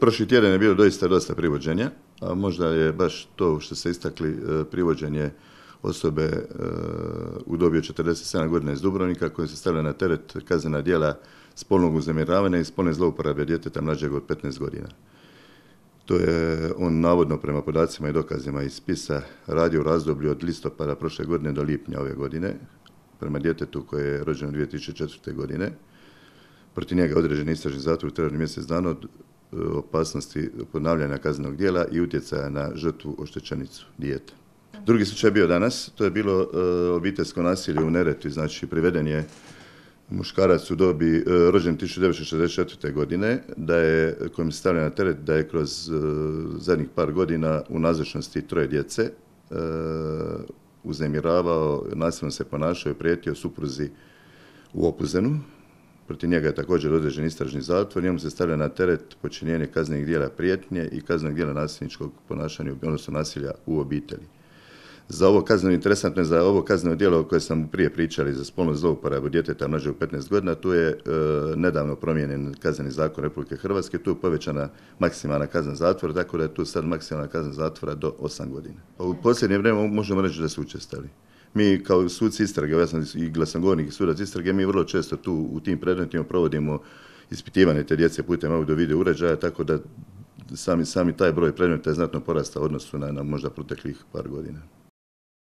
Prošli tjedan je bilo dosta privođenja, a možda je baš to što ste istakli privođenje osobe u dobi od 47 godina iz Dubrovnika koje se stavlja na teret kaznena djela spolnog uznemiravanja i spolne zlouporabe djeteta mlađeg od 15 godina. To je on navodno prema podacima i dokazima iz spisa radio u razdoblju od listopada prošle godine do lipnja ove godine prema djetetu koje je rođeno 2004. godine. Protiv njega je određen istražni zatvor u trajanju mjesec dana od opasnosti ponavljanja kaznenog djela i utjecaja na žrtvu oštećenicu dijete. Drugi slučaj je bio danas, to je bilo obiteljsko nasilje u Neretvi, znači priveden je muškarac u dobi rođen 1964. godine, kojem se stavlja na teret da je kroz zadnjih par godina u nazočnosti 3 djece uznemiravao, nasilno se ponašao i prijetio supruzi u Opuzenu. Protiv njega je također određen istražni zatvor, njemu se stavlja na teret počinjenje kaznenih djela prijetnje i kaznenog djela nasilničkog ponašanja, odnosno nasilja u obitelji. Za ovo kazneno, interesantno je za ovo kazneno djelo o kojem sam prije pričali, za spolnu zlouporabu djeteta mlađeg od 15 godina, tu je nedavno promijenjen kazneni zakon Republike Hrvatske, tu je povećana maksimalna kazna zatvora, tako da je tu sad maksimalna kazna zatvora do 8 godina. U posljednje vrijeme možemo reći da su učestali. Mi kao suci istrage, ja sam i glasnogovornik i sudac istrage, mi vrlo često tu u tim predmetima provodimo ispitivanje te djece putem audio-video uređaja, tako da sami taj broj predmeta je znatno porastao u odnosu na možda proteklih par godina.